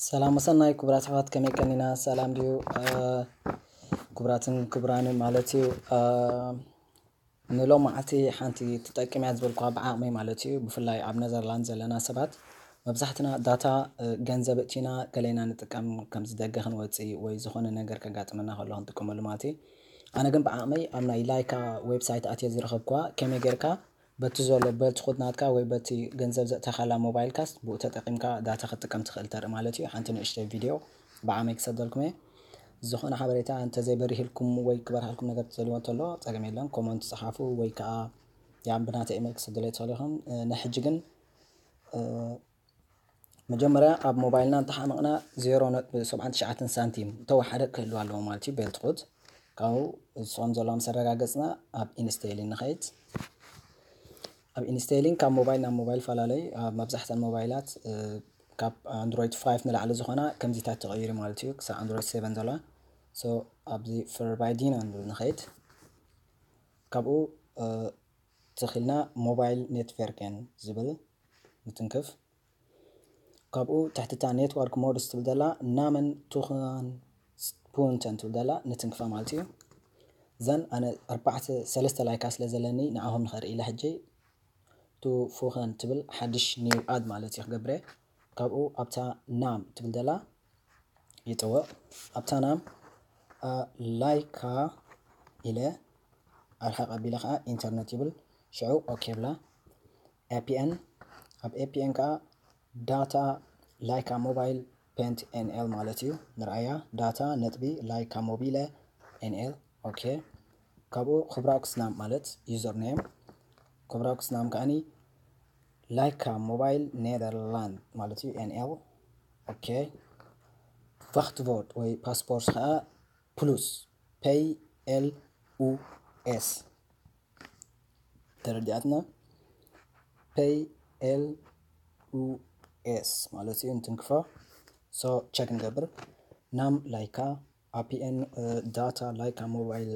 ሰላም ወሰናይ ክቡራት ኣሕዋት፣ ከመይ ቀኒና? ሰላም ድዩ? ክቡራትን ክቡራንን ማለት እዩ። ንሎማዓቲ ሓንቲ ትጠቅም እያ ዝበልኳ ብዓቕመይ ማለት እዩ። ብፍላይ ኣብ ነዘርላንድ ዘለና ሰባት መብዛሕትና ዳታ ገንዘብ እቲና ገሌና ንጥቀም፣ ከምዚ ደገ ክንወፅእ ወይ ዝኾነ ነገር ከጋጥመና ከሎ ክንጥቀመሉ ማለት እዩ። ኣነ ግን ብዓቕመይ ኣብ ናይ ላይካ ዌብሳይት ኣትየ ዝረኸብኳ ከመይ ጌርካ በቲ ዘሎ በልትኹት ናትካ ወይ በቲ ገንዘብ ዘእተኻላ ሞባይልካስ ብኡ ተጠቂምካ ዳታ ክትጥቀም ትኽእል ተርኢ ማለት እዩ። ሓንቲ ንእሽተይ ቪድዮ ብዓመይ ክሰደልኩም እየ። ዝኾነ ሓበሬታ እንተዘይበሪህልኩም ወይ ክበርሃልኩም ነገር ትደልይዎ እንተሎ ጸገም የለን፣ ኮመንት ጸሓፉ ወይ ከዓ ያ ብናተ ኢሜል ክሰደሎ ትኽእሉ ኢኹም። ንሕጂ ግን መጀመርያ ኣብ ሞባይልና እንተሓመቕና ዜሮ ነጥቢ ሰብዓን ትሽዓተን ሳንቲም ተወሓደ ክህልዋ ኣለዎ ማለት እዩ። ቤልትኹት ካብኡ ዝስኦም ዘለዋ ምስ ኣረጋገፅና ኣብ ኢንስቴሊን ንኸይድ። ኣብ ኢንስቴሊን ካብ ሞባይል ናብ ሞባይል ፈላለይ ኣብ መብዛሕተን ሞባይላት ካብ ኣንድሮይድ ፋይቭ ንላዕሊ ዝኾና ከምዚታት ተቐይሩ ማለት እዩ። ክሳብ ኣንድሮይድ ሴቨን ዘለዋ ኣብዚ ፈርባይዲና ንብል ንኸይድ። ካብኡ ትኽልና ሞባይል ኔትቨርክን ዝብል ንትንክፍ። ካብኡ ትሕትታ ኔትወርክ ሞድስ ትብል ዘላ ናመን ቱኻን ፑንተን ትብል ዘላ ንትንክፋ ማለት እዩ። ዘን ኣነ ኣርባዕተ ሰለስተ ላይካ ስለ ዘለኒ ንኣኹም ንኸርኢ ኢለ ሕጂ ቱ ፉኸን ትብል ሓድሽ ኒው ኣድ ማለት እዩ ክገብረ። ካብኡ ኣብታ ናም ትብል ዘላ ይጥውቕ። ኣብታ ናም ላይካ ኢለ ኣርሓ ቀቢለ ከዓ ኢንተርኔት ይብል። ሽዑ ኦኬ ብላ። ኤፒኤን ኣብ ኤፒኤን ከዓ ዳታ ላይካ ሞባይል ፔንት ኤንኤል ማለት እዩ። ንርኣያ ዳታ ነጥቢ ላይካ ሞቢለ ኤንኤል ኦኬ። ካብኡ ክብራውክስ ናም ማለት ዩዘር ኔም፣ ክብራውክስ ናም ከዓኒ ላይካ ሞባይል ኔደርላንድ ማለት እዩ ኤንኤል ኦኬ። ቫክትቮርድ ወይ ፓስፖርት ከዓ ፕሉስ ፔይ ኤል ኡ ኤስ ተረዲኣትና። ፔይ ኤል ኡ ኤስ ማለት እዩ እንትንክፎ። ሶ ቸክ ንገብር። ናም ላይካ ኣፒኤን ዳታ ላይካ ሞባይል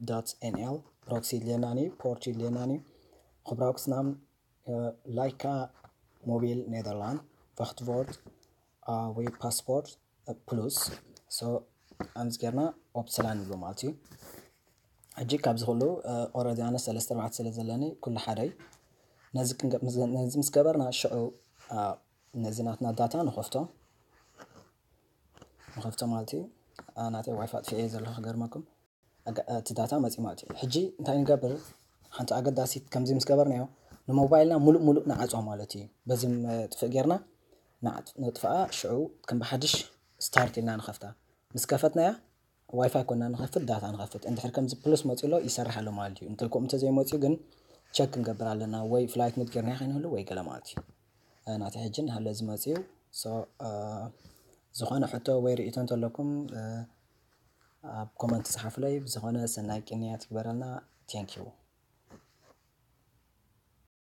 ዳት ኤንኤል ፕሮክሲ ድልየናኒ ፖርት ድልየናኒ ክብራውክስ ናም ላይካ ሞቢል ኔደርላንድ ቫክትቮርድ ወይ ፓስፖርት ፕሉስ። ሶ ኣምዚ ጌርና ኦፕስላ ንብሎ ማለት እዩ። ሕጂ ካብዚ ኩሉ ኦረዲ ኣነ ሰለስተ ኣርባዕተ ስለ ዘለኒ ኩሉ ሓደይ ነዚ ክንገ- ነዚ ምስ ገበርና ሽዑ ነዚ ናትና ዳታ ንኸፍቶ ንኸፍቶ ማለት እዩ። ናተይ ዋይፋ ኣጥፊኤ ዘለኹ ክገርመኩም። እቲ ዳታ መፂ ማለት እዩ። ሕጂ እንታይ ንገብር? ሓንቲ ኣገዳሲት ከምዚ ምስ ገበርናዮ ንሞባይልና ሙሉእ ሙሉእ ንዓፅዋ ማለት እዩ። በዚ ጥፍእ ጌርና ንጥፍኣ ሽዑ ከም ብሓድሽ ስታርት ኢልና ንኸፍታ። ምስ ከፈትናያ ዋይፋይ ኮና ንኸፍት ዳታ ንኸፍት። እንድሕር ከምዚ ፕሉስ መፂ ኣሎ ይሰርሕ ኣሎ ማለት እዩ። እንተ ከምኡ እንተዘይመፅኡ ግን ቸክ ክንገብር ኣለና ወይ ፍላይት ሙድ ጌርና ከይንህሉ ወይ ገለ ማለት እዩ። ናተይ ሕጂ ንሃለ ዝመፅኡ ዝኾነ ሕቶ ወይ ርእቶ እንተለኩም ኣብ ኮመንት ጸሓፉለይ። ብዝኾነ ሰናይ ቅንያት ይግበረልና። Thank you።